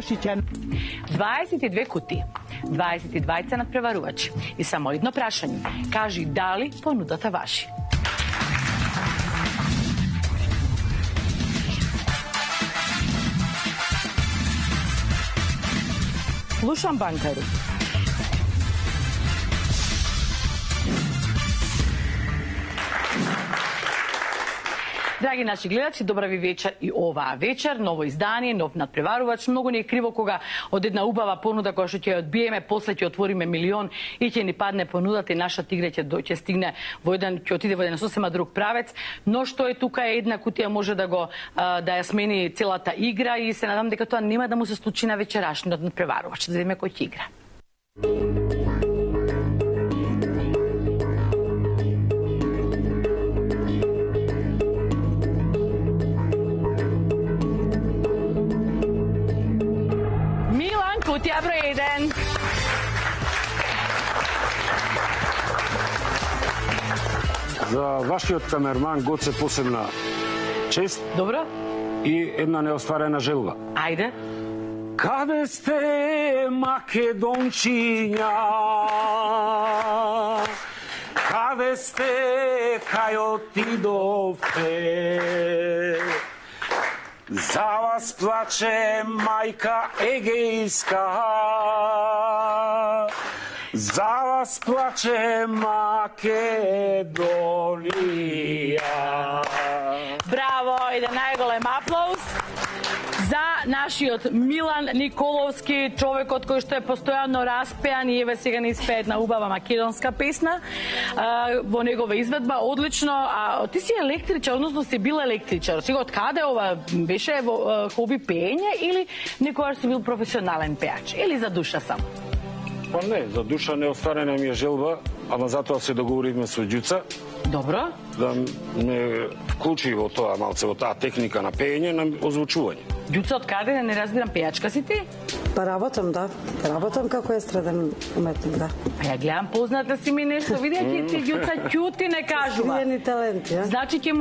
22 кутии, 22 надпреварувачи и само едно прашање. Кажи дали понудата важи. Слушам, банкари. Драги наши гледачи, добра ви вечер и оваа вечер. Ново издание, нов надпреварувач. Многу не е криво кога од една убава понуда која што ќе одбиеме, после ќе отвориме милион и ќе ни падне понудата и нашата игра ќе стигне во еден, ќе отиде во еден сосема друг правец. Но што е тука е една кутија може да ја смени целата игра и се надам дека тоа нема да му се случи на вечерашниот надпреварувач. Да видиме кој ќе игра. Кутија број 1. За вашиот камерман Гоце посебна чест. Добро. И една неостварена желба. Ајде. Каде сте, македончиња? Каде сте, кај отидовте? За вас плаче мајка Егејска, за вас плаче Македонија. Браво, еден најголем аплауз за нашиот Милан Николовски, човекот кој што е постојано распеан и еве сега не испее една убава македонска песна во негова изведба, одлично. А ти си електричар, односно си бил електричар. Сега од каде ова беше во хоби пеење или некојаш си бил професионален пеач или за душа само? Па не, за душа неостварена ми е желба, ама затоа се договоривме со Ѓуца. Добро. Да ме вклучи во тоа малце, во таа техника на пеење, на озвучување. Ѓуца, од каде? Не разбирам, пејачка си ти? Па работам, да. Работам како естраден уметник, да. Па ја гледам, позната си ми нешто, видејќи ти Ѓуца ќути не кажува. Свиени таленти, а? Значи ќе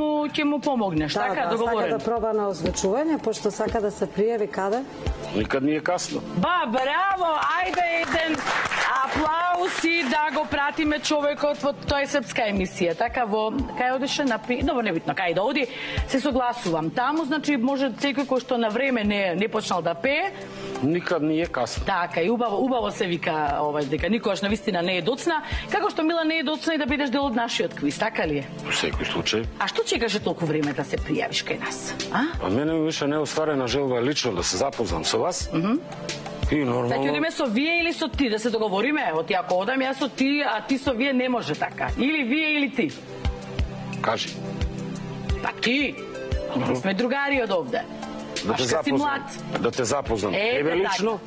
му помогнеш, така, договорено? Да, сака да проба на озвучување, пошто сака да се пријави каде? Никад не е касно. Ба, браво, ајде еден аплауз и да го пратиме човекот во тоа е српска емисија. Така во кај одеше на добро небитно, кај да оди, се согласувам. Таму значи може секој кој што на време не почнал да пее. Никад не е касно. Така и убаво се вика дека никогаш навистина не е доцна, како што Мила не е доцна и да бидеш дел од нашиот квиз, така ли е? Во секој случај. А што чекаше толку време да се пријавиш кај нас? А мене ми беше неостварена желба лично да се запознам со вас. И нормално. Сега ќе одиме со вие или со ти, да се договориме? Оти ако одам јас со ти, а ти со вие не може така. Или вие или ти. Кажи. Па ти. Ние сме другари од овде. Да те запознам. Да те запознам. Тебе лично.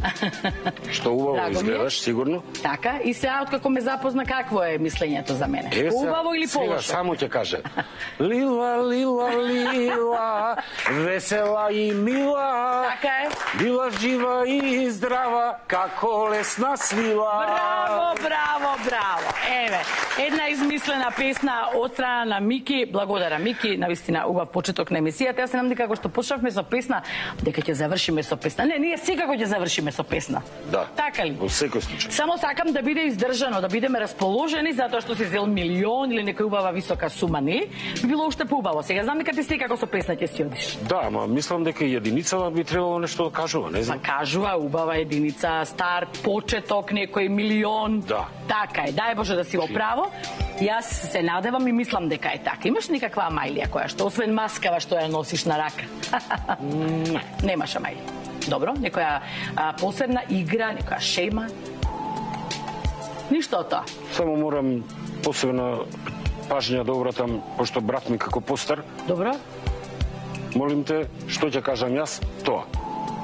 Што убаво изгледаш, сигурно. Така, и сега откако ме запозна, какво е мислењето за мене? Убаво или полошо? Сега само ќе каже. Лила, лила, лила, весела и мила. Така е. Била жива и здрава, како лесна свила. Браво, браво, браво. Еве, една измислена песна од страна на Мики. Благодарам, Мики, навистина убав почеток на емисијата. Јас се надам дека што почнавме со песна, дека ќе завршиме со песна. Не, ние секако ќе завршиме со песна. Да. Така ли? Во секој случај. Само сакам да биде издржано, да бидеме расположени затоа што си зел милион или некоја убава висока сума, нели? Би било уште поубаво. Сега знам дека ти секако со песна ќе си одиш. Да, ама мислам дека и единицава би требало нешто да кажува, не знам. Па кажува убава единица, старт, почеток, некој милион. Да. Така е. Дај Боже да си во право. Јас се надевам и мислам дека е така. Имаш некаква мајлија која што освен маскава што ја носиш на рака? Немаш мајлија. Добро, некоја посебна игра, некоја шема? Ништо од тоа. Само морам посебна пажња да обратам, пошто брат ми како постар. Добро. Молим те, што ќе кажам јас, тоа.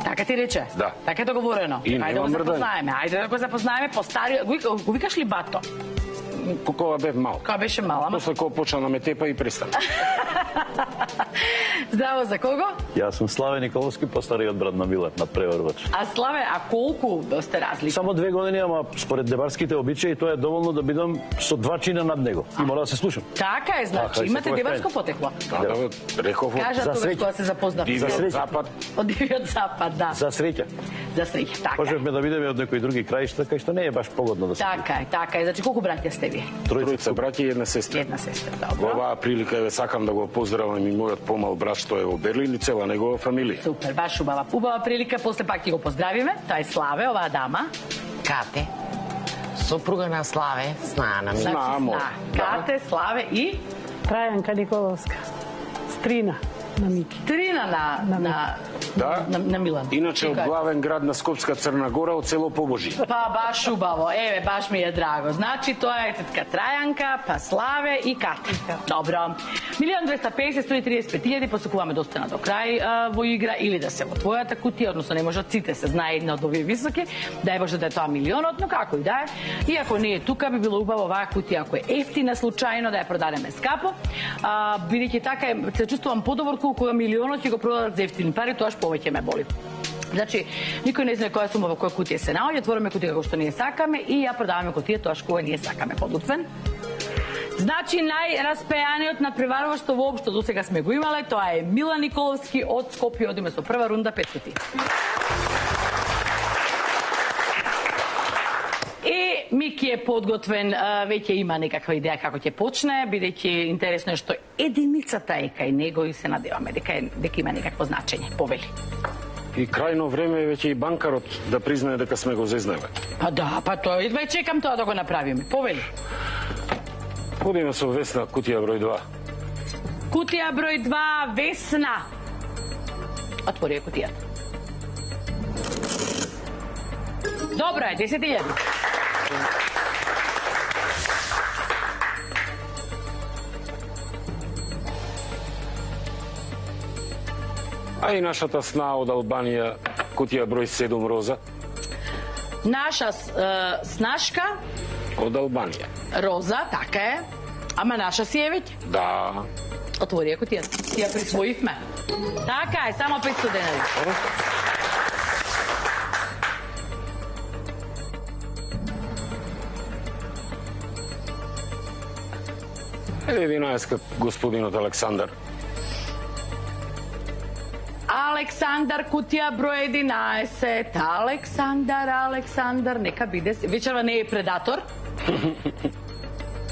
Така ти рече? Да. Така е договорено. И Ајде да го запознаеме. Ајде да го запознаеме по стари... Го викаш ли бато? Кога бев мал. Кога беше мала, ама? После кога почна да ме тепа и престана. Здраво, за кого? Јас сум Славе Николовски, постариот брат на Милан, надпреварувач. А Славе, а колку сте разлики? Само 2 години, ама според дебарските обичаи тоа е доволно да бидам со 2 чина над него. И мора да се слушам. Така е, значи, Така, имате секој дебарско крај. потекло. Да, реков Кажа За тогаш среќа. кога се запознавте. За Дивиот среќа. запад. Од Дивиот запад, да. За среќа. За среќа, така. Можевме да видиме од некои други краишта, кај што не е баш погодно да се. Така е. Значи, колку браќа сте вие? Тројца браќа и една сестра. Една сестра, Во добро. оваа прилика еве сакам да го поздравам и мојот помал брат што е во Берлин и цела негова фамилија. Супер, баш убава. Убава прилика, после пак ќе го поздравиме. Тоа е Славе, оваа дама. Кате, сопруга на Славе, знаена ми. Значи, Знамо, Кате, Славе и Трајанка Николовска. Стрина на Мики. Трина на Да. на Милан. Иначе од Така е. главен град на Скопска Црна Гора, од село Побожи. Па баш убаво, еве, баш ми е драго. Значи, тоа е тетка Трајанка, па Славе и Кати. Добро. 1.250, 135.000, посекуваме да остана до крај во игра или да се во твојата кутија, односно не можат сите, се знае една од овие високи, дај Боже да е тоа милионот, но како и да е. И ако не е тука, би било убаво оваа кутија, ако е ефтина случајно, да ја продадеме скапо. Бидејќи така се чувствувам подобро кога милионот ќе го продадат за ефтини пари, тоаш повеќе ме боли. Значи, никој не знае која сума во која кутија се наоѓа, отвораме кутија како што ние сакаме и ја продаваме кутија тоаш кога ние сакаме подутвен. Значи, најраспеаниот надпреварувач што воопшто досега сме го имале, тоа е Милан Николовски од Скопје, одиме со прва рунда 5 кутии. И Мики е подготвен, веќе има некаква идеја како ќе почне, бидејќи интересно е што единицата е кај него и се надеваме дека има некакво значење. Повели. И крајно време е веќе и банкарот да признае дека сме го зезнаве. Па да, па тоа едва и чекам тоа да го направиме. Повели. Одиме со Весна, кутија број 2. Кутија број 2, Весна. Отвори ја кутијата. Добро е, 10.000. А и нашата сна од Албанија, кутија број 7, Роза, Наша снашка, од Албанија. Роза, така е. Ама наша си е веќе. Да. Отвори ја кутијата. Си ја присвоивме. Така е, само 500 денари. Е, 11, господинот Александар. Александар, кутија број 11. Александар, нека биде. Вечерва не е предатор.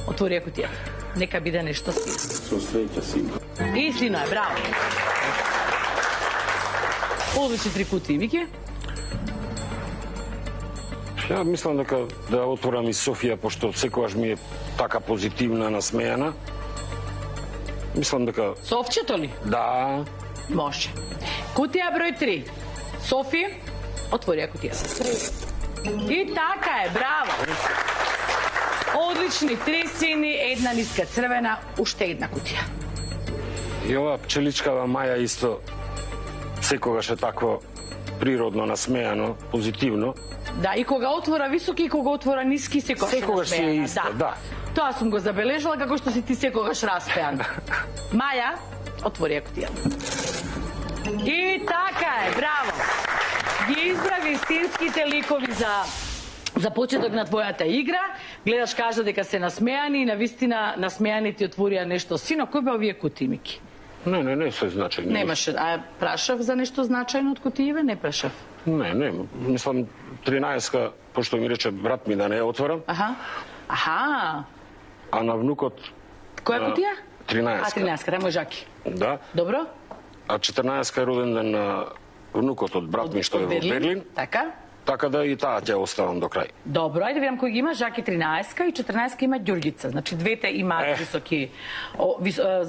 Отвори ја кутијата. Нека биде нешто си. Со среќа сина. И сино е, браво. Одлични 3 кутии, Мики. Ја мислам дека да отворам и Софија, пошто секогаш ми е така позитивна, насмејана. Мислам дека Совчето ли? да, Може. Кутија број 3. Софи, отвори ја кутијата. И така е, браво. Одлични 3 сини, една ниска црвена, уште една кутија. и ова пчеличкава Маја исто секогаш е такво природно, насмејано, позитивно. Да, и кога отвора високи, и кога отвора ниски, Секогаш си е иста, да. Тоа сум го забележала, како што си ти секогаш распеан. Маја, отвори ја кутијата. И така е, браво. Ги избра вистинските ликови за почеток на твојата игра. Гледаш, кажа дека се насмеани и навистина насмеани ти отворија нешто. Сино, кој бе овие кутии, Мики? Не се значајно. Немаше, а прашав за нешто значајно од кутииве? Не прашав. Не, мислам 13-ка, пошто ми рече брат ми да не ја отворам, Аха. а на внукот Која кутија? 13-ка. А, 13-ка, рамо жаки. Да, Добро? а 14-ка е роден ден на внукот од брат ми што е во Берлин, Така. така да и таа ќе оставам до крај. Добро, ајде видам кој ги има. Жаки 13-ка и 14-ка има Ѓурѓица. Значи двете имаат високи,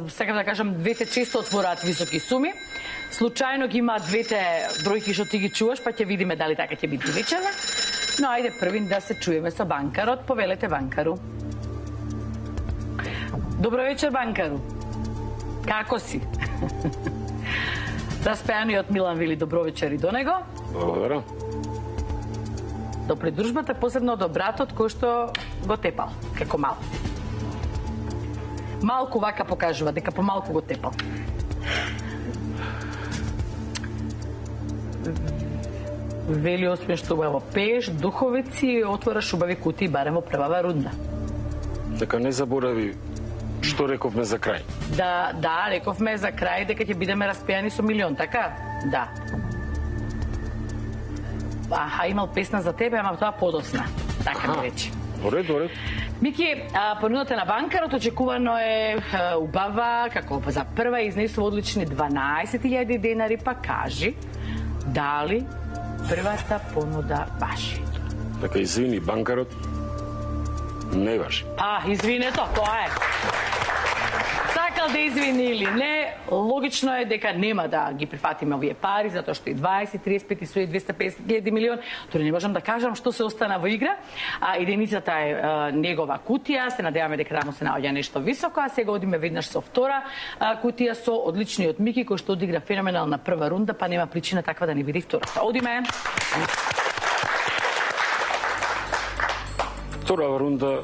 сакам да кажам, двете често отвораат високи суми. Случајно ги имаат двете бројки што ти ги чуваш, па ќе видиме дали така ќе биде вечерва. Но ајде првин да се чуеме со банкарот. Повелете банкару. Добро вечер, банкару. Како си? Распеаниот Милан вели добро вечер и до него. Благодарам. До придружбата, посебно до братот кој што го тепал, како мал. Малку вака покажува, дека помалку го тепал. Вели освен што убаво пееш, духовици и отвораш убави кутии барем во првава рунда. Дека не заборави што рековме за крај. Да, рековме за крај дека ќе бидеме распејани со милион, така? Да. Имал песна за тебе, ама тоа подосна. Така ми рече. Оред. Мики, понудата на банкарот очекувано е убава, како за прва изнесува одлични 12.000 денари, па кажи дали првата понуда важи. Дека извини, банкарот не важи. Извинето, тоа е. Сакал да извини или не, логично е дека нема да ги прифатиме овие пари, затоа што и 20, 35 и 250.000 милион, тори не можам да кажам што се остана во игра, единицата е негова кутија, се надеваме дека таму се наоѓа нешто високо, а сега одиме веднаш со втора кутија со одличниот Мики, кој што одигра феноменална прва рунда, па нема причина таква да не биде втората. Одиме. Втора рунда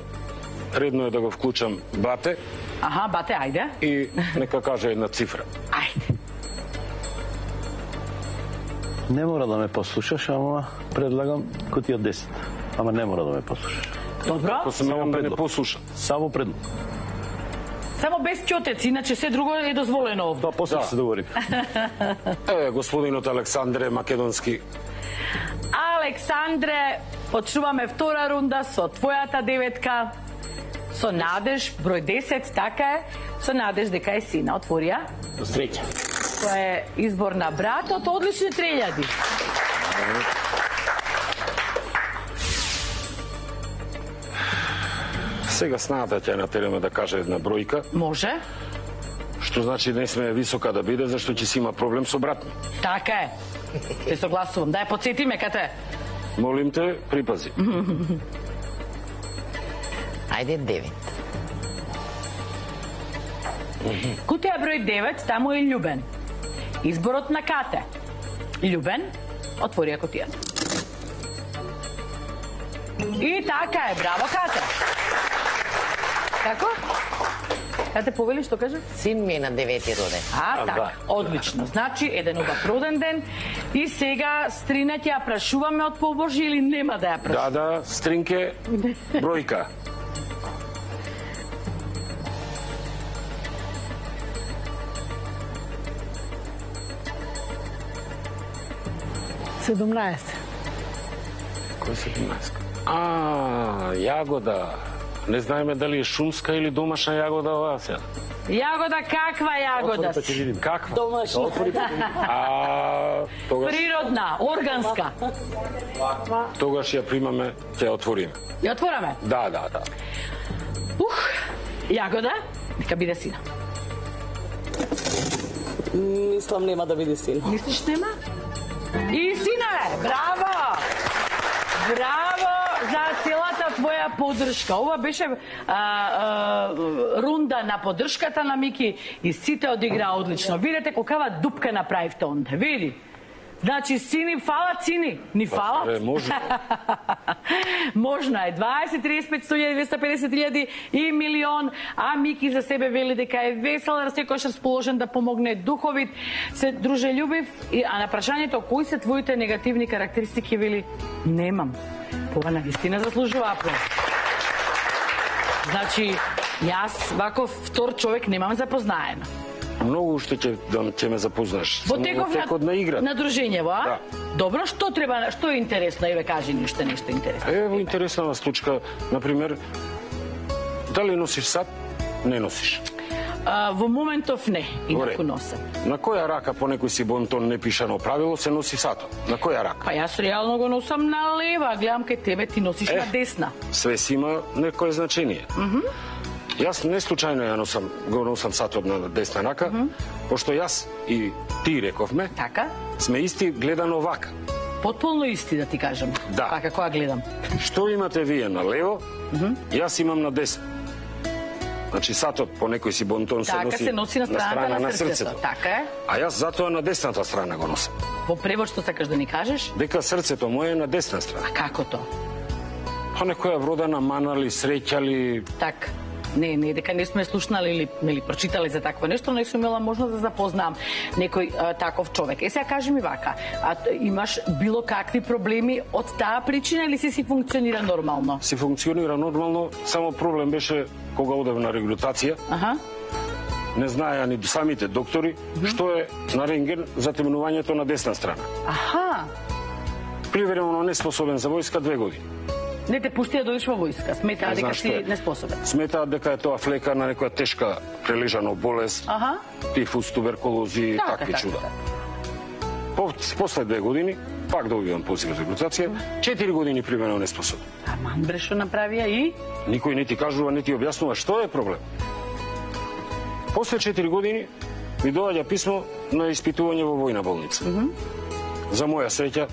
редно е да го вклучам Бате. Бате, ајде. И нека каже една цифра. Ајде. Не мора да ме послушаш, ама предлагам кутија 10. Ама не мора да ме послушаш. Добро. Ако се морам да не послушам. Само предлог. Само без ќотец, иначе се друго е дозволено овде. Тоа после се договорим. Господинот Александре Македонски. Александре, почнуваме втора рунда со твојата деветка. Со надеж, број 10, така е, со надеж дека е сина. Отворија. До среќа. Тоа е избор на братот, одлични 3000. Сега снаата ќе натераме да каже една бројка. Може. Што значи не сме висока да биде, зашто ќе си има проблем со брат ми. Така е. Те согласувам. Дај, подсети ме, кате. Молим те, припази. Ајде 9. Кутија број 9, таму е Љубен. Изборот на Кате. Љубен, отворија кутијата. И така е, браво Кате. Како? Кате повели што каже? Син ми е на 9 роден. Така, одлично. Значи, еден убав роден ден. И сега Стрина ќе ја прашуваме од побожи или нема да ја прашуваме? Да, Стринке, бројка. Кој 17? Јагода. Не знаеме дали е шумска или домашна јагода оваа сега. Јагода, каква јагода си? Каква? Домашна. Тогаш Природна, органска. тогаш ја примаме, ќе ја отвориме. Ја отвораме? Да. Јагода, нека биде сина. Мислам нема да биде син. Мислиш нема? И сина е! Браво! Браво за целата твоја поддршка. Ова беше рунда на поддршката на Мики и сите одиграа одлично. Видете каква дупка направивте онде. Види. Значи, сини фалат, сини. Ни фалат? Може. Можно е. 20, 35, 100, 250.000 и милион. А Мики за себе вели дека е весел, секојаш расположен да помогне духовит, се дружелюбив. А на прашањето кои се твоите негативни карактеристики вели немам. Ова навистина заслужува аплауз. Значи, јас ваков втор човек немам запознаено. Многу уште ќе ме запознаш. Во текот на игра. На дружењево, а? Да. Добро, што треба, што е интересно? Еве кажи нешто интересно. Ево интересна случка, например, дали носиш сат? Не носиш. Во моментов не, инаку носам. На која рака по некој си бонтон не пишано правило се носи сатот? На која рака? Па јас реално го носам на лева, гледам кај тебе ти носиш на десна. Све си има некое значение. Јас не случајно го носам сатот на десна рака, пошто јас и ти рековме, Така? сме исти гледано вака. Потполно исти да ти кажам. Да. Така која гледам. Што имате вие на лево, јас имам на десно. Значи сатот по некој си бонтон Така се носи на страната на срцето. Така е. А јас затоа на десната страна го носам. Во превод што сакаш да ни кажеш? Дека срцето моје е на десна страна. А како то? Па некоја вродена манали, среќали, Така. Не дека не сме слушнали или прочитали за такво нешто, но сум имала можност да запознам некој таков човек. Сега кажи ми вака, имаш било какви проблеми од таа причина или си функционира нормално? Си функционира нормално, само проблем беше кога одев на регрутација. Не знаеа ни самите доктори што е на рентген затемнувањето на десна страна. Привремено неспособен за војска 2 години. Не те пушти да дојдеш во војска, сметаа дека си неспособен. Сметаат дека е тоа флека на некоја тешка прележана болест, тифус, туберкулози и такви чуда. После 2 години, пак добивам позив за регрутација, 4 години примерно неспособен. Аман брешо направија и? Никој не ти кажува, не ти објаснува што е проблем. После 4 години ми доаѓа писмо на испитување во војна болница. За моја среќа,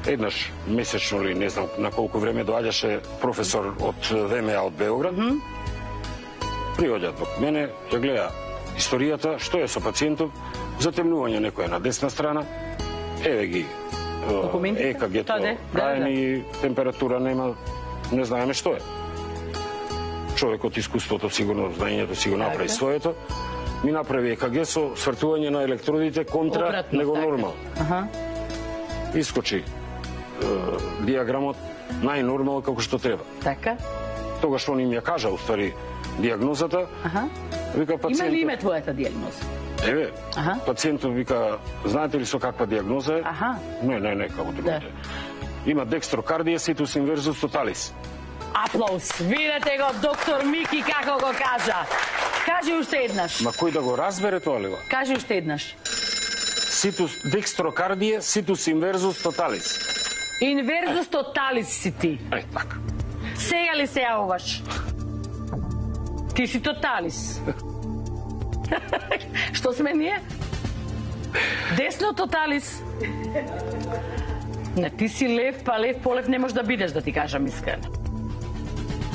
еднаш месечно или не знам на колку време доаѓаше професор од ВМА од Београд. Приоѓа до мене, ја гледа историјата, што е со пациентов, затемнување некоја на десна страна, еве ги ЕКГ-то, крајни, температура нема, не знаеме што е. Човекот искуството сигурно, знаењето си го направи своето, ми направи ЕКГ со свртување на електродите контра него нормал. Искочи диаграмот најнормал како што треба. Така? Тогаш он им ја кажа, уствари, диагнозата. Вика пациентот... Има ли име твојата диагноза? Еве, пациентот вика, знаете ли со каква диагноза е? Не, како другите. Има декстрокардија ситус инверзус тоталис. Аплауз. Видете го доктор Мики како го кажа. Кажи уште еднаш. Ма кој да го разбере тоа ли? Кажи уште еднаш. Декстрокардија ситус инверзус тоталис. Инверзус тоталис си ти. Така. Сега ли се јавуваш? Ти си тоталис. Што сме ние? Десно тоталис. Не, ти си лев, па лев по лев не можеш да бидеш, да ти кажам искрено.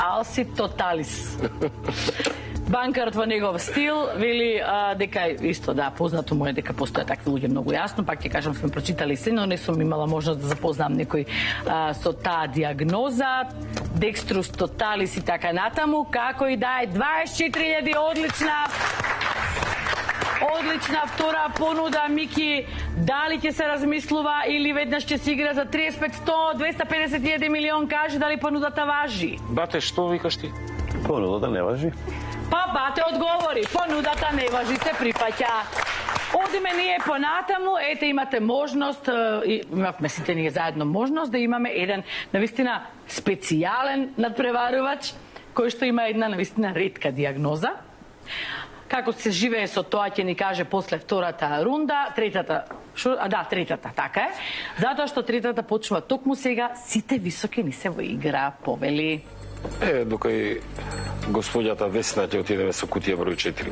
Ал си тоталис. Банкарот во негов стил вели дека исто познато му е дека постојат такви луѓе многу јасно, пак ќе кажам сме прочитали се, но не сум имала можност да запознам некој со таа диагноза, декструс тоталис и така натаму, како и да е 24.000 одлична втора понуда, Мики, дали ќе се размислува или веднаш ќе се игра за 35, 100, 250.000 милион, кажи дали понудата важи. Бате, што викаш ти? Понудата не важи. Па бате одговори, понудата не важи, се прифаќа. Одиме ние понатаму, ете имате можност, имавме сите ние заедно можност да имаме еден навистина специјален надпреварувач, кој што има една навистина ретка диагноза. Како се живее со тоа ќе ни каже после втората рунда, третата, така е. Затоа што третата почнува токму сега, сите високи ни се во игра, повели. Докај господјата Весна ќе отидеме со кутија број 4.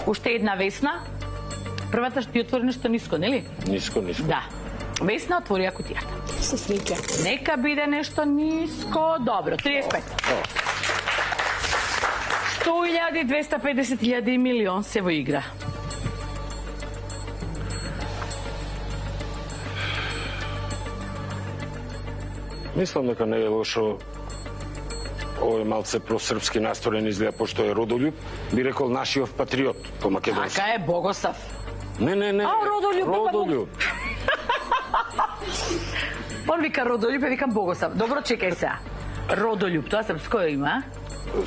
Уште една Весна. Првата што ти отвори нешто ниско, нели? Ниско. Да. Весна отвори кутијата. Со среќа. Нека биде нешто ниско. Добро, 35. 100.000, 250.000 милион се во игра. Мислам дека не е лошо. Овој малце просрпски настроен изгледа, пошто е родолюб, би рекол нашиот патриот по македонски. Така е, Богосав. Не. Родолюб. Он вика Родолюб, викам Богосав. Добро, чекај сега. Родолюб, тоа српско има,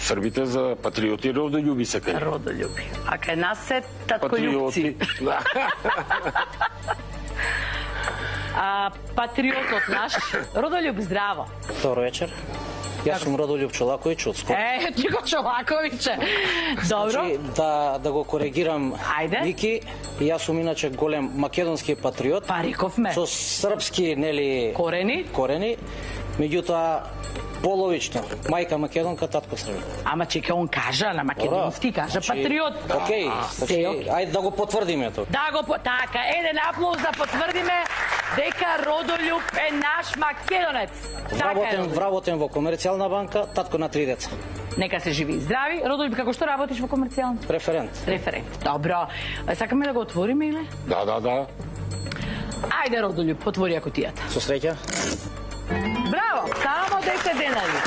Србите за патриоти родолюби се кај. Родолюби. А кај нас се татколюбци. Патриотот наш, Родолюб, здраво. Добро вечер. Јас сум Родолюб Чолаковиќ од Скопје. Ти го Чолаковиќе. Добро. Значи, да го коригирам Мики, јас сум иначе голем македонски патриот. Па рековме. Со српски, нели, корени. Меѓутоа, половично. Мајка македонка, татко србин. Ама чека, он кажа на македонски, кажа патриот. Океј, ајде да го потврдиме тоа. Така, еден аплауз да потврдиме дека Родолюб е наш македонец. Вработен во Комерцијална банка, татко на 3 деца. Нека се живи и здрави. Родолюб, како што работиш во Комерцијална? Референт. Добро. Сакаме да го отвориме или? Да. Ајде, Родолюб, отвори кутијата. Со среќа. 110 денари.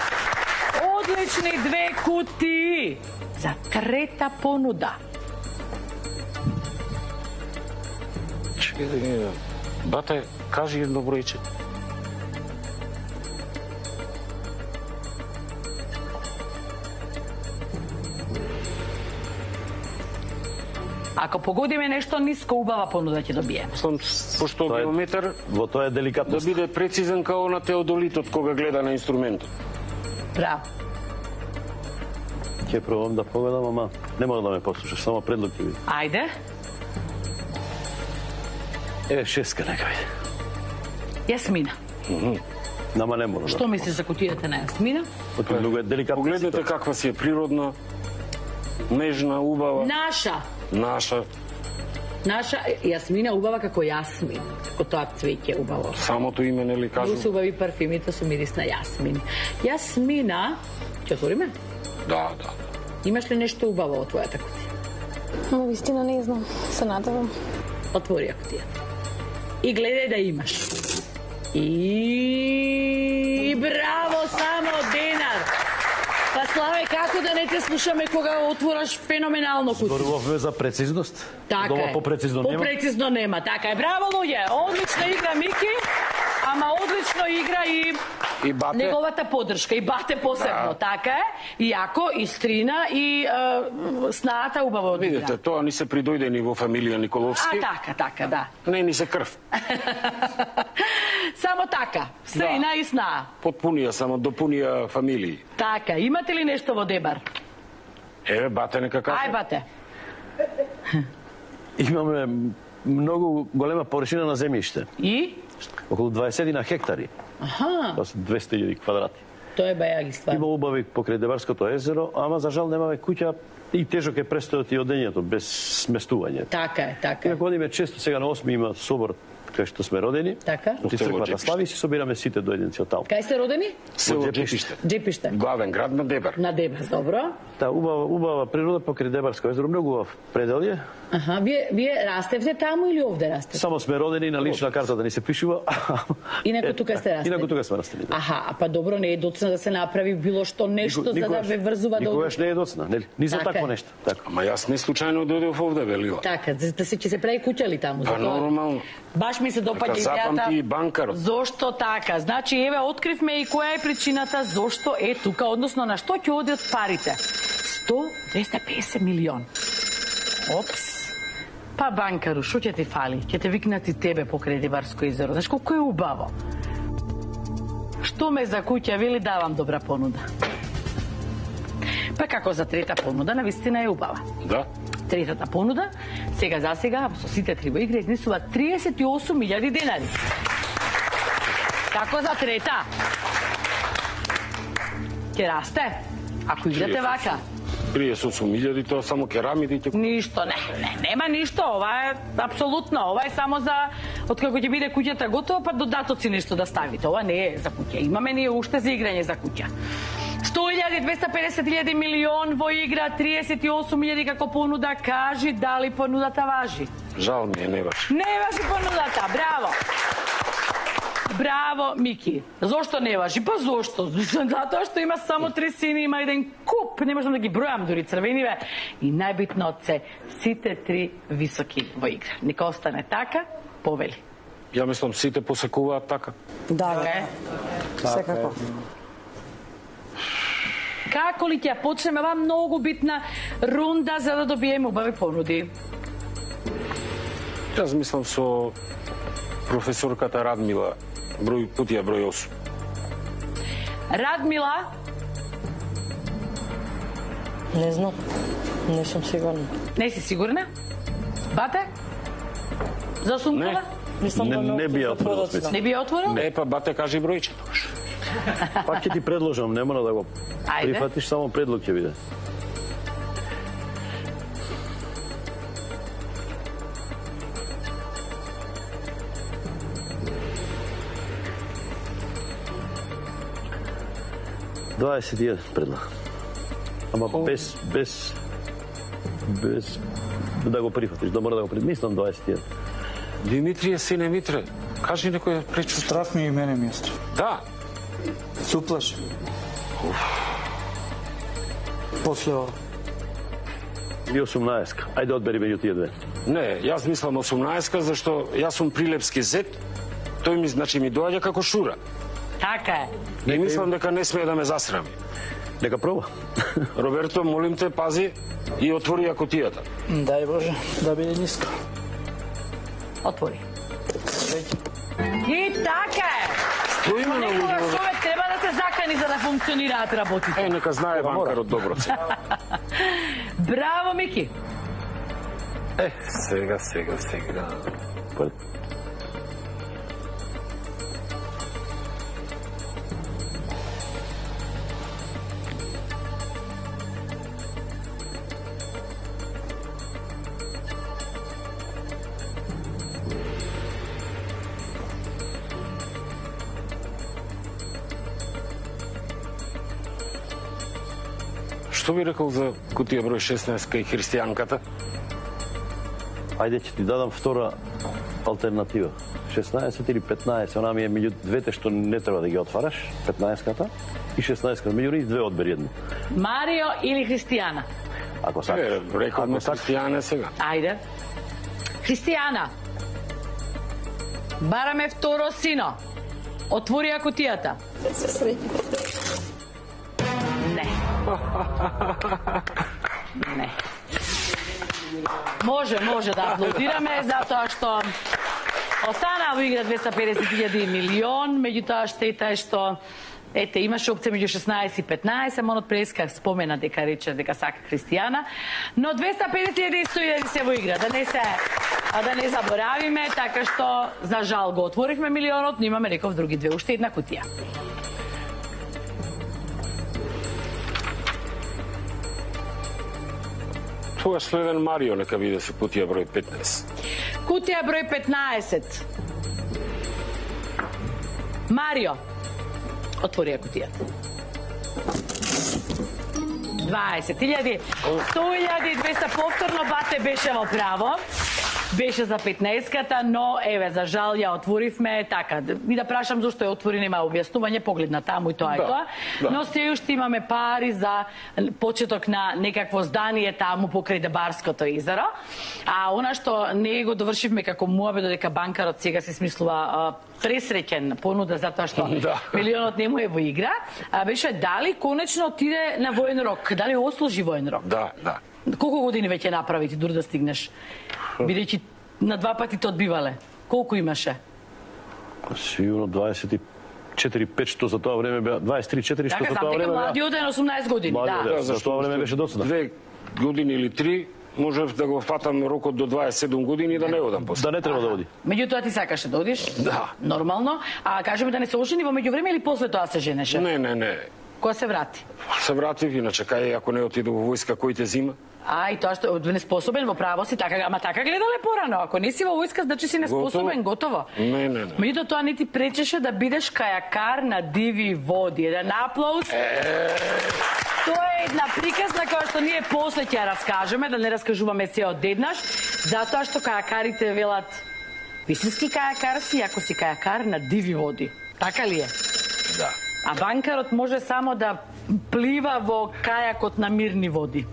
Одлични 2 кутии за трета понуда. Чекай, бате, кажи едно бројче. Ако погодиме нешто ниско, убава понуда ќе добиеме. Пошто геометар Во тоа е да деликатност. биде прецизен као на теодолитот кога гледа на инструментот. Браво. Ќе пробам да погодам, ама не мора да ме послушаш, само предлог ќе биде. Ајде. Шестка нека биде. Јасмина. Нама не мора. Што мислиш за кутијата на Јасмина? Многу е деликатно. Погледнете каква си е природна, нежна, убава. Наша. Наша. Наша Јасмина убава како јасмин. Како тоа цвеќе убаво. Самото име, нели кажу? Многу се убави парфимите со мирис на јасмин. Јасмина, ќе отвориме? Да, да. Имаш ли нешто убаво во твојата кутија? Но вистина не знам, се надевам. Отвори ја кутијата. И гледај да имаш. И браво, само денар. Па Славе, како да не те слушаме кога отвораш феноменално кутија? Зборувавме за прецизност. Така Дома е. попрецизно нема. Попрецизно нема, така е. Браво, луѓе. Одлична игра Мики, ама одлично игра И бате. неговата поддршка, и бате посебно, така е. И јако, и Стрина, и снаата убаво одигра. Видите, тоа ни се придојдени во фамилија Николовски. Така, да. Не ни се крв. Само така, Стрина и Снаа. Потпунија, само допунија фамилии. Така, имате ли нешто во Дебар? Еве, бате нека каже. Ај, бате. Имаме многу голема површина на земјиште. И? Околу 20 на хектари. Аха, Тоа се 200.000 квадрати. тоа е бајаги ствар. Има убави покрај Дебарското езеро, ама за жал немаме куќа и тежок е престојот и одењето без сместување. Така е, така е. Инаку одиме често, сега на 8 има собор кај што сме родени. Така. Оти црквата слави и си собираме сите дојденци од таму. Кај сте родени? Село Джепиште. Джепиште. Главен град на Дебар. На Дебар, добро. Та убава природа покрај Дебарско езеро, многу убав пределје. Аха, вие растевте таму или овде растевте? Само сме родени на лична карта да ни се пишува. Инаку тука сте растели. Инаку тука сме растели. Да. Аха, па добро, не е доцна да се направи било што нешто за да ве врзува до... Никогаш не е доцна, нели? Ни за Така такво е. нешто. Така. Ама јас не случајно дојдов овде, велила. Така, да се ќе се прави куќа ли таму? Па За тоа? нормално. Баш ми се допаѓа Така запамти и банкарот. Зошто така? Значи, еве, откривме и која е причината зошто е тука, односно на што ќе одат парите. 100-250 милион. Опс. Па банкару, што ќе ти фали? Ќе те викнат и тебе покрај Дебарско езеро. Знаеш колку е убаво? Што ме за куќа вели, давам добра понуда. Па како за трета понуда, навистина е убава. Да. Третата понуда, сега за сега, со сите три во игра, изнесува 38.000 денари. Како за трета? Ќе расте? Ако играте вака? 38.000, тоа само керамиди ќе... Ништо, нема ништо, ова е апсолутно, ова е само за откако ќе биде куќата готова, па додатоци нешто да ставите, ова не е за куќа, имаме ние уште за играње за куќа. 100.000, 250.000 милион во игра, 38.000 како понуда, кажи дали понудата важи? Жал ми е, не важи. Не важи понудата, браво! Браво, Мики. Зошто не важи? Па зошто? Затоа што има само 3 сини, има еден куп, не можам да ги бројам дури црвениве. И најбитно се сите 3 високи во игра. Нека остане така, повели. Ја мислам сите посекуваат така. Да, Така е. секако. Како ли ќе ја почнеме ова многу битна рунда за да добиеме убави понуди? Јас мислам со професорката Радмила, кутија број 8. Радмила, Не знам, не сум сигурна. не си сигурна? Бате? За сумкова? Мислам да Не би ја отворил специјално. Не би ја отворил? Не, па бате кажи бројче. Пак ќе ти предложам, не мора да го Ајде. прифатиш, само предлог ќе биде. Дваесет предлог. Ама без да го прифатиш, да мора да го прифатиш. Мислам 21. Димитрije, сине Митре, кажи некој пречу. Страф ми и мене ми е страф. Да, Суплаш. После ова. И 18. Ајде одбери меѓу тие две. Не, јас мислам 18, зашто јас сум прилепски зет, тој ми значи ми доаѓа како Шура. Така е. И мислам дека не смее да ме засрами. Нека проба. Роберто, молим те, пази и отвори ја кутијата. Дај Боже, да биде ниско. Отвори. И така е. Стоиме на Некогаш луѓе. човек треба да се закани за да функционираат работите. Нека знае банкарот добро. Браво, Мики. Сега. Што би рекол за кутија број 16 и христијанката? Ајде ќе ти дадам втора алтернатива. 16 или 15, она ми е меѓу двете што не треба да ги отвараш, 15-ката и 16-ката. Меѓу нив две одбери едно. Марио или Христијана? Ако сакаш. Рековме христијане сега. Ајде. Христијана. Бараме второ сино. Отвори ја кутијата. Не. Не. Може да аплодираме, затоа што останаа во игра 250.000 и милион, меѓутоа штета е што имаше опција меѓу 16 и 15, Монот Преска спомена дека рече дека сака Христијана, но 250.000 и 100.000 се во игра, да не заборавиме, така што за жал го отворивме милионот, но имаме реков други две, уште една кутија. Тогаш следен Марио нека биде се кутија број 15. Кутија број 15. Марио. Отвори ја кутијата. 20.000, 100.000, 200 повторно, бате беше во право. Беше за 15-ката, но еве за жал ја отворивме така. И да прашам зошто ја отвори, нема објаснување, погледна таму и тоа и тоа. Но се уште имаме пари за почеток на некакво здание таму покрај Дебарското езеро. А она што не го довршивме како муабе, додека банкарот сега се смислува пресреќен понуда затоа што милионот не му е во игра, беше дали конечно отиде на воен рок, дали ослужи воен рок. Да. Колку години веќе направи ти дури да стигнеш? Бидејќи на два пати те одбивале. Колку имаше? Сигурно 24-5, што за тоа време беа 23-4, што за тоа време беа. Младиот е на 18 години, да. За тоа време беше досада. 2 години или 3 можев да го фатам рокот до 27 години и да не одам после. Да не треба да оди. Меѓутоа ти сакаше да одиш? Да. Нормално. А кажеме да не се ожени во меѓувреме или после тоа се женеше? Не. Кога се врати? Се вратив, иначе кај ако не отиду во војска, кој те зима? И тоа што неспособен во право си, така, ама така гледале порано. Ако не си во војска, значи си неспособен, готово. Не. Меѓутоа тоа не ти пречеше да бидеш кајакар на диви води. Еден аплауз. Тоа е една приказна која што ние после ќе ја раскажеме, да не раскажуваме се одеднаш, затоа што кајакарите велат вистински кајакар си, ако си кајакар на диви води. Така ли е? Да. А банкарот може само да плива во кајакот на мирни води.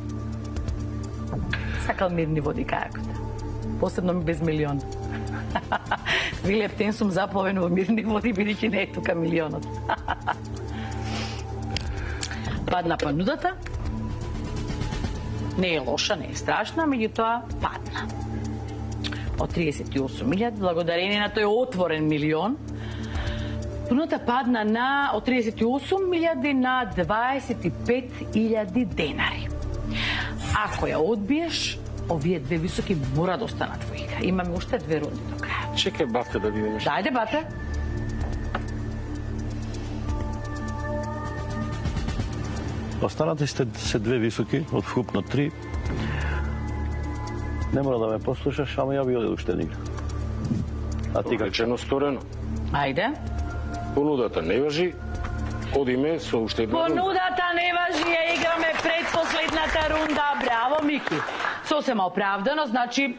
Сакал мирни води кајакот. Посебно без милион. Вилеп Тенсум заплавен во мирни води, бидејќи не е тука милионот. Падна понудата. Не е лоша, не е страшна, меѓутоа падна. Од 38.000, благодарение на тој отворен милион, понудата падна од 38.000 на 25.000 денари. Ако ја одбиеш, овие две високи мора да останат во игра. Имаме уште 2 рунди до крај. Чекај, бате, да видиме. Дајде, бате. Останати сте се 2 високи, од вкупно 3. Не мора да ме послушаш, ама ја би одел уште игра. А ти како? Речено сторено. Ајде. Понудата не важи, одиме со уште една рунда. Понудата не важи, ја играме предпоследната рунда. Браво, Мики. Сосема оправдано, значи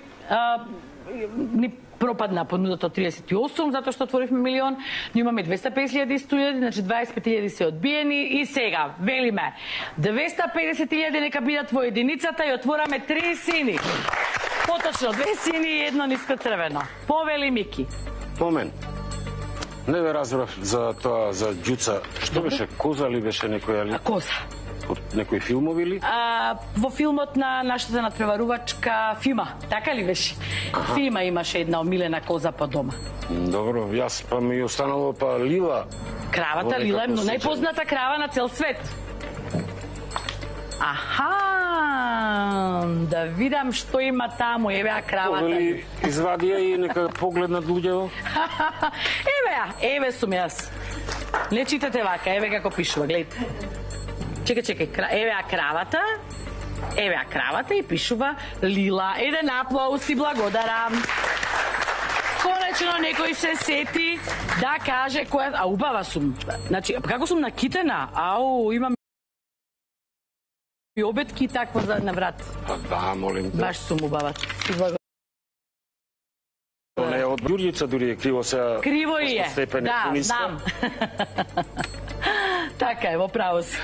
ни пропадна понудата од 38, затоа што отворивме милион, но имаме 250.000 и 100.000, значи 25.000 се одбиени и сега, велиме, 250.000 нека бидат во единицата и отвораме 3 сини. Поточно, 2 сини и едно ниско црвено. Повели Мики. По мен. Не ве разбрав за тоа, за ѓуца. Што беше, коза ли беше некоја ли? Коза. Од некои филмови ли? Во филмот на нашата надпреварувачка Фима, така ли беше? Фима имаше една омилена коза по дома. Добро, јас па ми останало па Лила. Кравата Лила е најпозната крава на цел свет. Аха, да видам што има таму, еве ја кравата. Повели, извади ја и нека погледнат луѓето. Еве ја, еве сум јас. Не читате вака, еве како пишува, гледате. Чекај, еве ја кравата. Еве ја кравата и пишува Лила. Еден аплауз и благодарам. Конечно некој се сети да каже која... А убава сум. Значи, како сум накитена? Ау, имам и обетки и такво на врат. Да, молим те. Баш сум убава. Не, од Ѓурѓица дури е криво сега. Криво и е. Да, знам. Така е, во право си.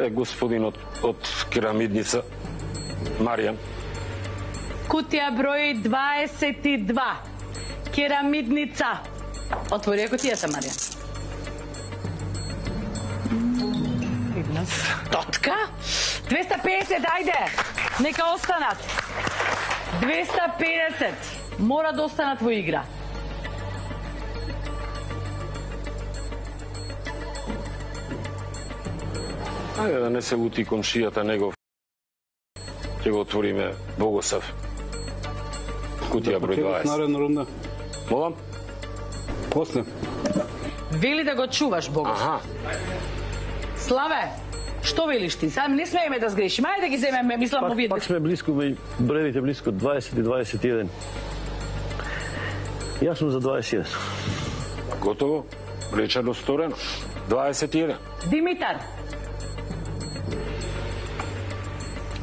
Господинот од керамидница, Маријан. Кутија број 22. Керамидница. Отвори ја кутијата, Маријан. Тотка? 250, ајде! Нека останат. 250. Мора да останат во игра. Ајде да не се лути комшијата негов. Ќе го отвориме Богосав. Кутија број 20. Наредна рунда. Молам? После. Вели да го чуваш, Богосав. Аха. Славе, што велиш ти? Сам не смееме да сгрешиме. Ајде да ги земеме, мислам овие. Пак сме близко, броевите близко 20 и 21. Јас сум за 21. Готово. Речено сторено. 21. Димитар.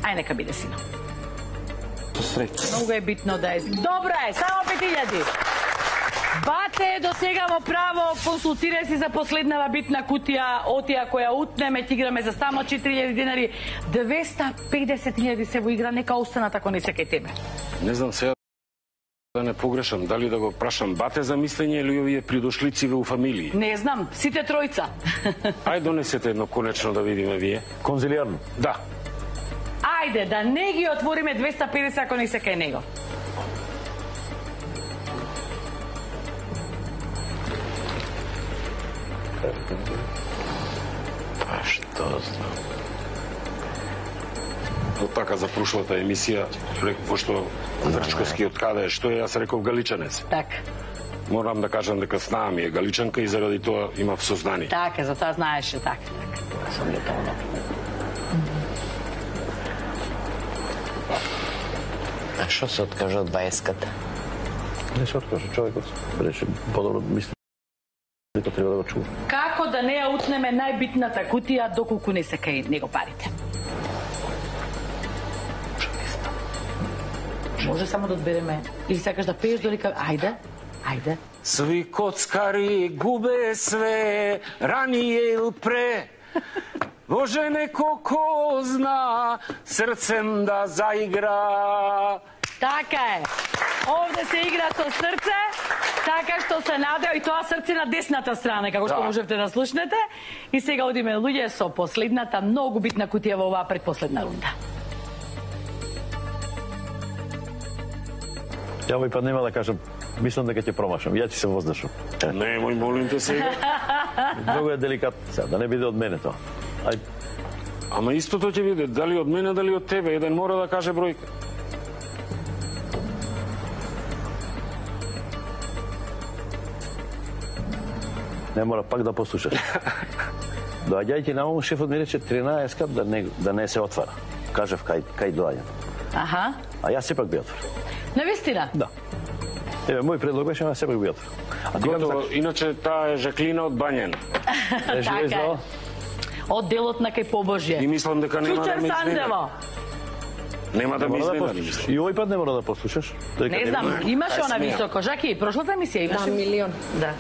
Ај нека биде сина. Многу е битно да е. Добро е, само 5000. Бате, до сега во право, консултирај си за последнава битна кутија, отија која утнеме, ќе играме за само 4000 динари. 250.000 се во игра, нека останат ако не се кај тебе. Не знам сега да не погрешам, дали да го прашам бате за мислење или овие придошлици во фамилии. Не знам, сите тројца. Ај донесете едно конечно да видиме вие. Конзилиарно? Да. Ајде, да не ги отвориме 250 ако не се кај него. Па што знам. Од така за прошлата емисија, пошто Врчковски од каде е, што е, јас реков галичанец. Така. Морам да кажам дека снаа ми е галичанка и заради тоа имав сознание. Така, за тоа знаеше, така. Сам ја тоа. А што се откажа од 20-ката? Не се откажа, човекот рече подобро мисли. Дека треба да го чува. Како да не ја утнеме најбитната кутија доколку не се кај него парите? Може само да одбереме. Или сакаш да пееш долика... Ајде, ајде. Сви коцкари губе све, ранije или пре. Може неко ко зна, срцем да заигра. Така е. Овде се игра со срце, така што се надео и тоа срце на десната страна, како што можевте да слушнете. И сега одиме луѓе со последната, многу битна кутија во оваа предпоследна рунда. Ја овој пат нема да кажам, мислам дека ќе промашам, ја ќе се воздашам. Немој, молим те сега. Многу е деликатно, сега, да не биде од мене тоа. Ај. Ама истото ќе биде, дали од мене, дали од тебе, еден мора да каже бројка. Не мора пак да послушаш. Доаѓајќи на ум, шефот ми рече 13 кат да не се отвара. Кажав кај доаѓам. Аха. А јас сепак би отворил. Навистина? Да. Еве, мој предлог беше на сепак бијата. Готово, иначе таа е Жаклина од Бањен. Така е. Од делот на кај Побожје. И мислам дека нема да ме изненади. Нема да ме изненади. И овој пат не мора да послушаш. Не знам, имаше она високо. Жаки, прошлата емисија имаше. Да, милион. Да.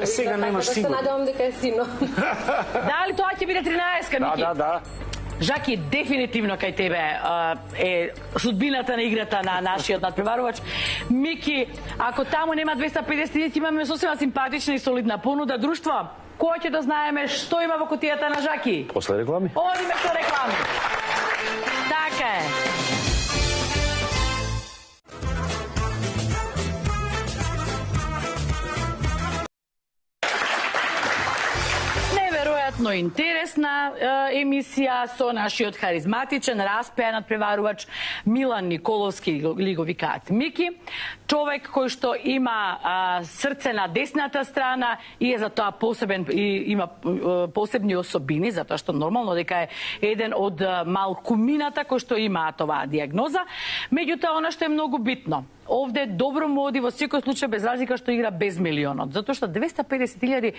Сега немаш сигурно. Се надевам дека е сино. Дали тоа ќе биде 13-ка, Мики? Да. Жаки, дефинитивно кај тебе е судбината на играта на нашиот надпреварувач. Мики, ако таму нема 250.000, имаме сосема симпатична и солидна понуда. Друштво, кој ќе да знаеме што има во кутијата на Жаки? После реклами? Одиме со реклами. Така е. Неверојатно интересна емисија со нашиот харизматичен, распеан надпреварувач Милан Николовски, или го викаат Мики, човек кој што има срце на десната страна и е за тоа посебен и има посебни особини, затоа што нормално дека е еден од малкумината кој што имаат оваа диагноза. Меѓутоа, она што е многу битно, овде добро му оди во секој случај без разлика што игра без милионот, затоа што 250.000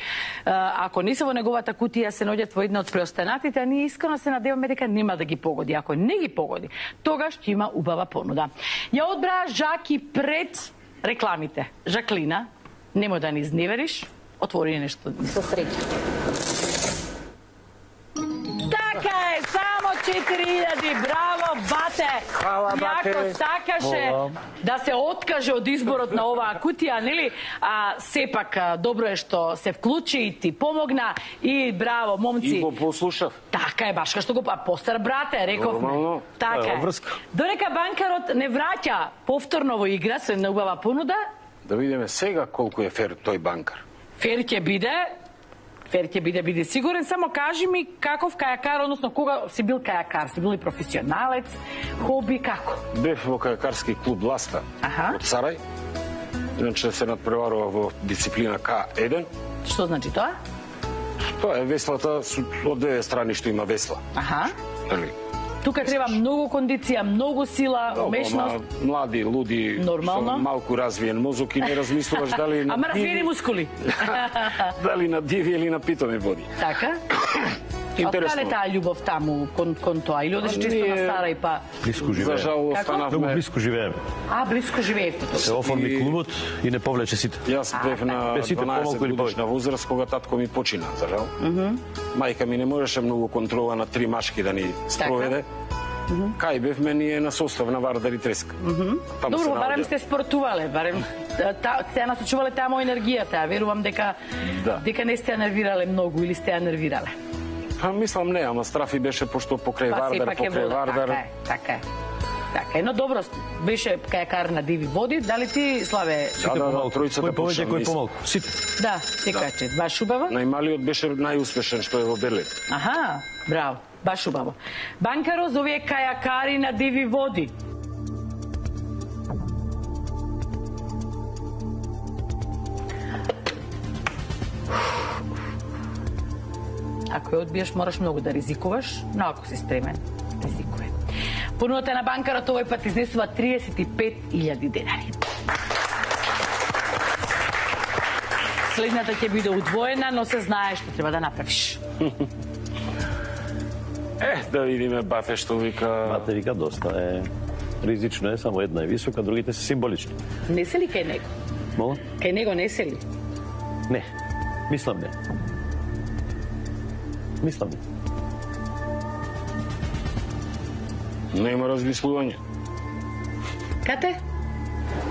ако не се во неговата кутија се наоѓаат во една од преостанатите, а ние искрено се надеваме дека нема да ги погоди. Ако не ги погоди, тогаш ќе има убава понуда. Ја одбраа Жаки пред рекламите. Жаклина, немој да ни изневериш, отвори нешто. Со среќа. Така е, само 4.000, браво, бате! Хвала, бате! Јако сакаше да се откаже од изборот на оваа кутија, нели? Сепак, добро е што се вклучи и ти помогна и браво, момци. И го послушав. Така е, баш кај што го постар брате, рековме. Нормално. Така е. Додека банкарот не враќа повторно во игра со една убава понуда, да видиме сега колку е фер тој банкар. Фер ќе биде, биде сигурен, само кажи ми каков кајакар, односно кога си бил кајакар, си бил и професионалец, хоби, како? Бев во кајакарски клуб Ласта од Сарај, иначе се надпреварува во дисциплина К1. Што значи тоа? Тоа е веслата од две страни што има весла. Тука треба многу кондиција, многу сила, умешност. Млади, луди, со малку развиен мозок и не размислуваш дали на Ама развиени мускули. Дали на диви или на питоми води. Така? Интересно. Откаде таа љубов таму кон тоа? Или одеш чисто на Сарај па? Блиску живееме. За жал останавме. Многу блиску живееме. Блиску живеевте. Се оформи клубот и не повлече сите. Јас бев на 12 годишна возраст кога татко ми почина, за жал. Мајка ми не можеше многу контрола на 3 машки да ни спроведе. Кај бевме ние на состав на Вардар и Треска. Добро, барем сте спортувале, барем те насочувале таму енергијата. Верувам дека не сте ја нервирале многу или сте ја нервирале. Мислам не, ама страфи беше пошто покрај Вардар. Така е, но добро, беше кајакар на диви води. Дали ти, Славе? Тројцата повеќе, кој помалку. Сите. Да, секојаче, баш убаво. Најмалиот беше најуспешен што е во Берлин. Браво, баш убаво. Банкаро за овие кајакари на диви води. Ако ја одбиеш, мораш многу да ризикуваш, но ако си спремен, ризикувай. Понудата на банкарот овој пат изнесува 35.000 денари. Следната ќе биде удвоена, но се знае што треба да направиш. Да видиме Бате што вика. Бате вика доста е ризично е, само една е висока, другите се символични. Не се ли кај него? Мола? Кај него не се ли? Не, мислам не. Мислам не. Нема размислување. Кате?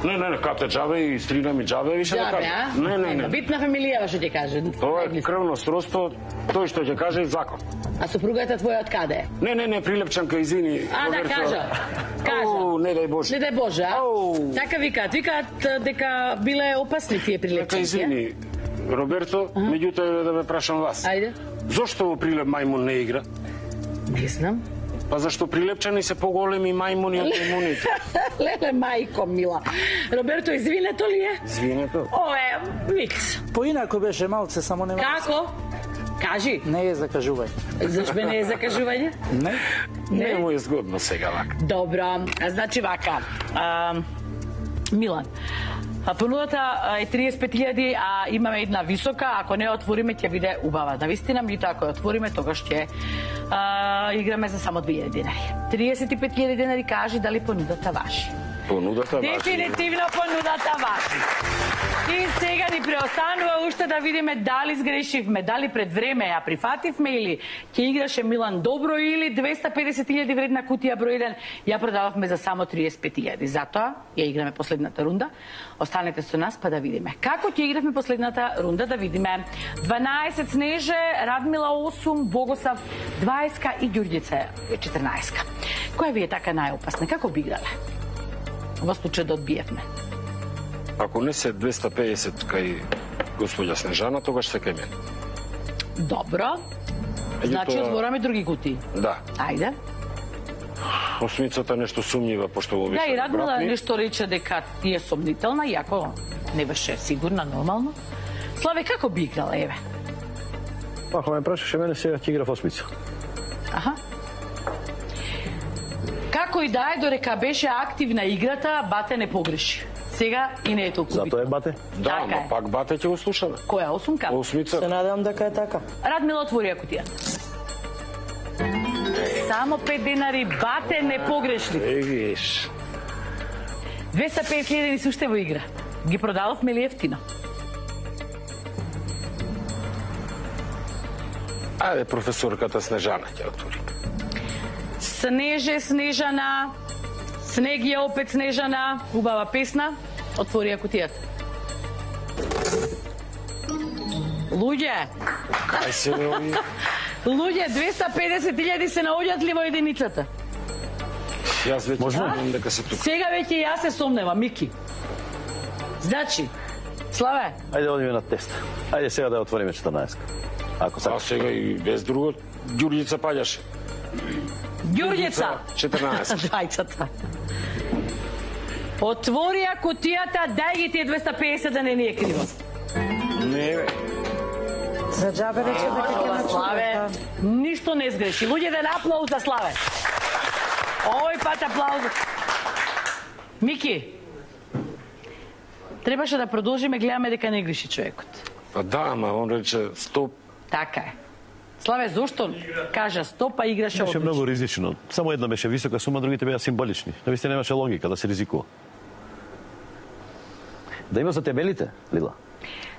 Не, кате джабе и стрина ми джабе, више да каже. Не. Битна фамилија што ќе каже. Тоа е крвно сродство, тој што ќе каже е закон. А сопругата твоја од каде е? Не, прилепчанка, извини. Да кажа. Не дај Боже. Не дај Боже, Така викаат дека биле опасни тие прилепчанки. Извини, Роберто, меѓутоа да ме прашам вас. Ајде. Зошто во прилеп мајмун не игра? Не знам. Па зашто прилепчани се поголеми мајмуни од мајмуните? Леле, мајко мила. Роберто, извинето ли е? Извинето. Ое, викс. Поинако беше малце, само нема. Како? Кажи. Не е закажување. Зашто не е закажување? Не му е згодно сега вака. Добро, значи вака. Милан, Понудата е 35.000, а имаме една висока, ако не отвориме ќе биде убава. Навистина, меѓутоа ако ја отвориме, тогаш ќе играме за само 2.000 денари. 35.000 денари, кажи дали понудата важи. Понудата важи. Дефинитивно понудата важи. И сега ни преостанува уште да видиме дали сгрешивме, дали пред време ја прифативме или ќе играше Милан добро или 250.000 вредна кутија број 1 ја продававме за само 35.000. Затоа ја играме последната рунда. Останете со нас па да видиме. Како ќе игравме последната рунда, да видиме. 12 Снеже, Радмила 8, Богосав 20 и Ѓурѓица 14. Која ви е така најопасна? Како би играле? Во случај да одбиевме. Ако не се 250 кај господја Снежана, тогаш се кај мен. Добро. Значи отвораме други кутии. Да. Ајде. Осмицата нешто сумнива, пошто го Да, и Радмила нешто рече дека е сомнителна, иако не беше сигурна, нормално. Славе, како би играла, еве? Ако ме прашаше мене, сега ќе игра в осмица. Аха. Како и да е, дорека беше активна играта, Бате не погреши. Сега и не е толку битно. Затоа е Бате? Да, Така ама е. пак Бате ќе го слушаме. Која, осумка? Осмица. Се надевам дека е така. Радмила отвори кутија. Само 5 денари, Бате не погрешли. Егиш. 250.000 ни се уште во игра. Ги продававме ли ефтино? Ајде, професорката Снежана ќе отвори. Снеже, Снежана, Снег е опет Снежана, убава песна, отвори ја кутијата. Луѓе, Кај се не ови? луѓе, 250.000 се наоѓаат ли во единицата? Јас веќе Можно? знам дека се тука. Сега веќе јас се сомневам, Мики. Значи, Славе, Ајде одиме на тест. Ајде сега да ја отвориме 14. Ако А сакаш. сега и без друго, Ѓурѓица паѓаше. Ѓурѓица. 14. Дајцата. Отвори ја кутијата, дај ги тие 250 да не ни е криво. Не, бе. За џабе рече дека ќе Ова, Славе, ништо не сгреши. Луѓе, ден аплауз за Славе. Овој пат аплауз. Мики, требаше да продолжиме, гледаме дека не греши човекот. Па да, ама он рече стоп. Така е. Славе, зошто кажа стоп, а играше Беше одлично? многу ризично. Само една беше висока сума, другите беа символични. Навистина немаше логика да се ризикува. Да има за темелите, Лила.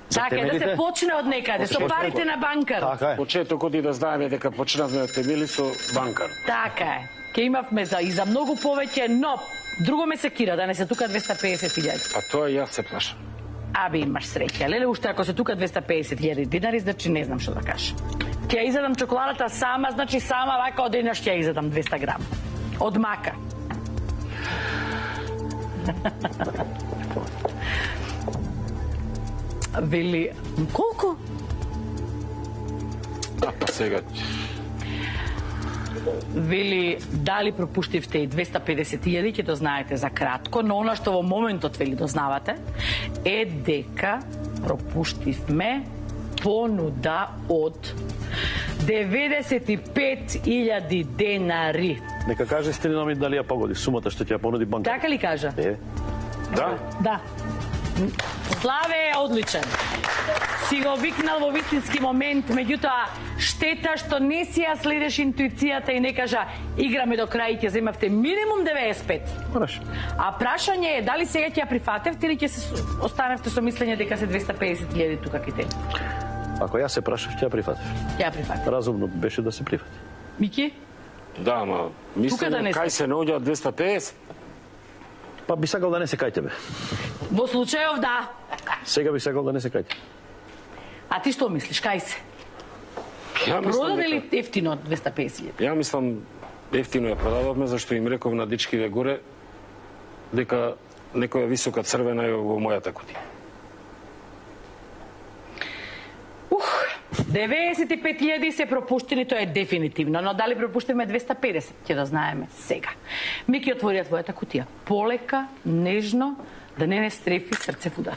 За Така е, да се почне од некаде, со парите на банкар. Така е. Почетокот и да знаеме дека почнавме од темели со банкар. Така е. Ке имавме и за многу повеќе, но друго ме секира да не се тука 250.000. Па тоа јас се плашам. Абе, имаш среќа. Леле, уште ако се тука 250.000 динари, значи не знам што да кажам. Ќе ја изедам чоколадата сама, значи сама вака од еднаш ќе ја изедам 200 грам. Од мака. Вели, колку? А, па сега... Вели, дали пропуштивте и 250.000, ќе дознаете за кратко, но она што во моментот вели дознавате е дека пропуштивме понуда од 95.000 денари. Нека каже Стрина ми дали ја погоди сумата што ќе ја понуди банка. Така ли кажа? Да? Да. Славе е одличен. Си го викнал во вистински момент, меѓутоа штета што не си ја следеш интуицијата и не кажа играме до крај и ќе земавте минимум 95. Хорошо. А прашање е дали сега ќе ја прифатевте или ќе се останевте со мислење дека се 250.000 тука ките. Ако јас се прашав, ќе ја прифатив. Ќе ја прифатев. Разумно беше да се прифати. Мики? Да, ама мислам да не кај се. се наоѓа 250. Па би сакал да не се кај тебе. Во случајов да. Сега би сакал да не се кај тебе. А ти што мислиш, кај се? Ја мислам Продаде ли дека... ефтино 250.000? Ја мислам ефтино ја продававме, зашто им реков на дечкиве горе дека некоја висока црвена е во мојата кутија. 95.000 се пропуштени, тоа е дефинитивно, но дали пропуштиме 250, ќе да знаеме сега. Мики отвори твојата кутија. Полека, нежно, да не стрефи срце в удар.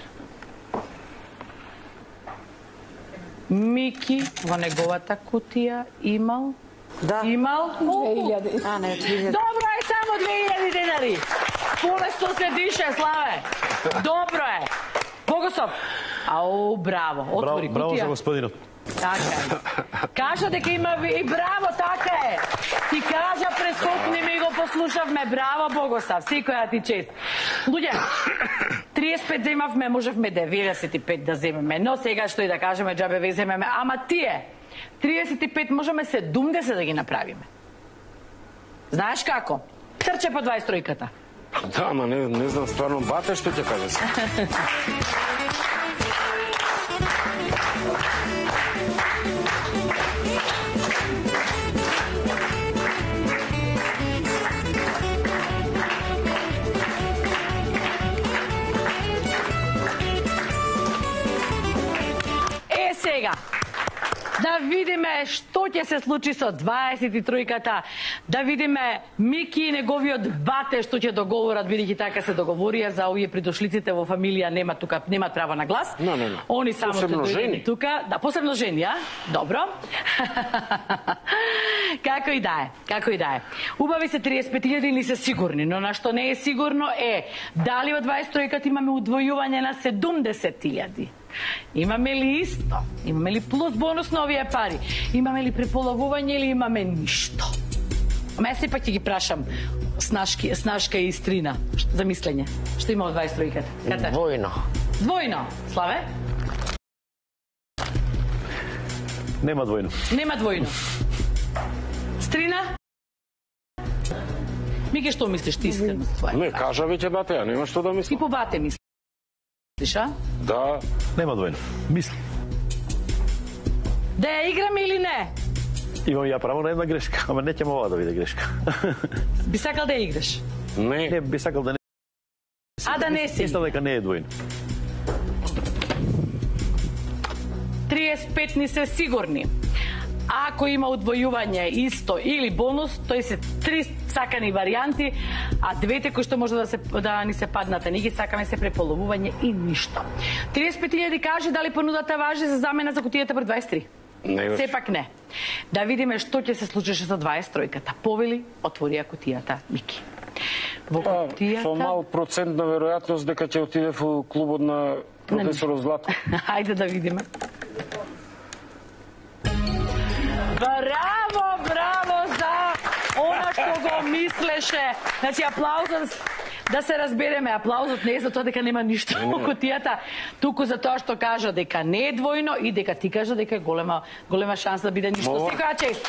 Мики во неговата кутија имал... Да. Имал... 2000. А, не, 2000. Добро е, само 2000 денари. Полесно се дише, Славе. Добро е. Богосов. Ау, браво. Отвори кутија. Браво за господинот. Така е. Кажа дека има и браво, така е. Ти кажа прескокни ми го послушавме. Браво, Богосав. Секоја ти чест. Луѓе, 35 земавме, можевме 95 да земеме, но сега што и да кажеме, џабе ве земеме, ама тие 35 можеме 70 да ги направиме. Знаеш како? Трче по 23-ката. Да, ама не знам стварно бате што ќе кажеш. Сега, да видиме што ќе се случи со 23-ката, да видиме Мики и неговиот бате што ќе договорат, бидејќи така се договорија за овие придошлиците во фамилија немаат право на глас. Не. Они само ќе дојдат тука, да, посебно жени, а? Добро. Како и да е. Убави се 35.000 или се сигурни, но на што не е сигурно е дали во 23-ката имаме удвојување на 70.000. Имаме ли исто? Имаме ли плюс бонус на овие пари? Имаме ли преполовување или имаме ништо? Ама јас сепак ќе ги прашам Снашка и Истрина за мислење. Што има од 23-ката? Двојно. Славе? Нема двојно. Стрина? Мике, што мислиш ти искрено? Не, кажа веќе бате, ја нема што да мислам. И по бате мислиш, а? Да. Нема двојно. Мисли. Да ја играме или не? Имам ја право на една грешка, ама не ќе ова да биде грешка. Би сакал да ја играш? Не, би сакал да не. А да не си? Мислам дека не е двојно. 35 ни се сигурни. Ако има удвојување исто или бонус, тој се 3 сакани варијанти, а двете кои што може да ни се паднат, а ние ги сакаме се преполовување и ништо. 35.000 кажи дали понудата важи за замена за кутијата пред 23? Не. Сепак не. Да видиме што ќе се случеше за 23-ката. Повели, отворија кутијата Мики. Во кутијата... Со мал процент на веројатност дека ќе отиде во клубот на професор Златко. Ајде да видиме. Браво за она што го мислеше. Значи, аплаузот, да се разбереме, аплаузот не е за тоа дека нема ништо во кутијата, туку за тоа што кажа дека не е двојно и дека ти кажа дека е голема шанса да биде ништо. Секоја чест.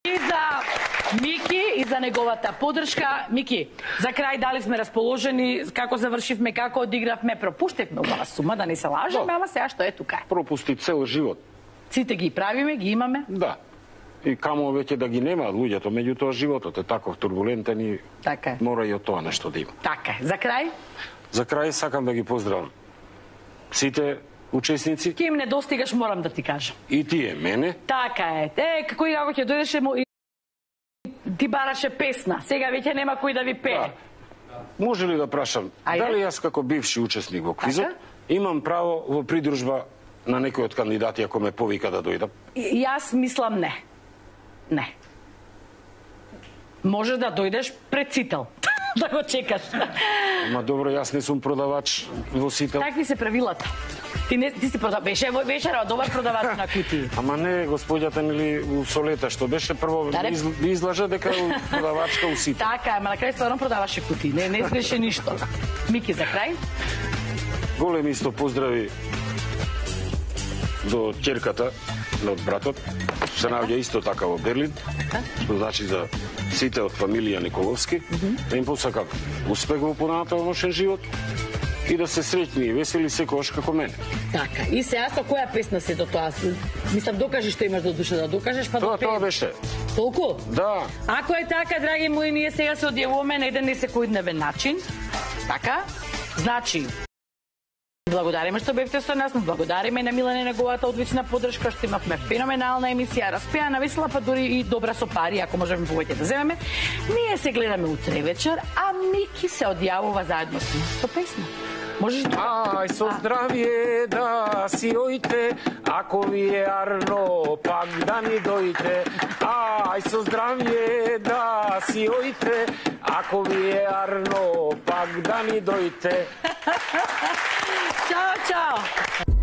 И за Мики и за неговата поддршка. Мики, за крај дали сме расположени, како завршивме, како одигравме, пропуштивме убава сума, да не се лажеме, ама сега што е тука. Пропусти цел живот. Сите ги правиме, ги имаме. Да. И камо веќе да ги нема луѓето, меѓутоа животот е таков турбулентен и така мора и од тоа нешто да има. Така е. За крај? За крај сакам да ги поздравам сите учесници. Ке им недостигаш, морам да ти кажам. И тие, мене. Така е. Како и како ќе дојдеше ти бараше песна. Сега веќе нема кој да ви пее. Да. Може ли да прашам, дали јас како бивши учесник во квизот имам право во придружба на некој од кандидати ако ме повика да дојдам? Јас мислам не. Не. Може да дојдеш пред Сител. Да го чекаш. Ама добро, јас не сум продавач во Сител. Такви се правилата. Ти си продавач. Беше вечера добар продавач на кутии. Ама не, господјата нели у Солета што беше прво ви излажа дека е продавачка у Сител. Така, ама на крај стварно продаваше кутии. Не изглеше ништо. Мики, за крај? Големи исто поздрави до ќерката од братот, се наоѓа исто така во Берлин, што значи за сите од фамилија Николовски, да им посакам успех во понатамошен живот и да се среќни и весели секогаш како мене. Така, и сега со која песна се до тоа? Мислам, докажи што имаш до душа да докажеш, па да Тоа беше. Толку? Да. Ако е така, драги мои, ние сега се одјавуваме на еден несекојдневен начин. Така? Значи, благодариме што бевте со нас, благодариме на Милане неговата одлична поддршка, што имавме феноменална емисија, распеана, весела, па дури и добра со пари, ако можеме повеќе да земеме. Ние се гледаме утре вечер, а Мики се одјавува заедно со нас со песна. Можеш Ај со здравје да си ојте, ако ви е арно, пак да ни дојте. Ај со здравје да си ојте, ако ви е арно, пак да ни дојте. Чао, чао.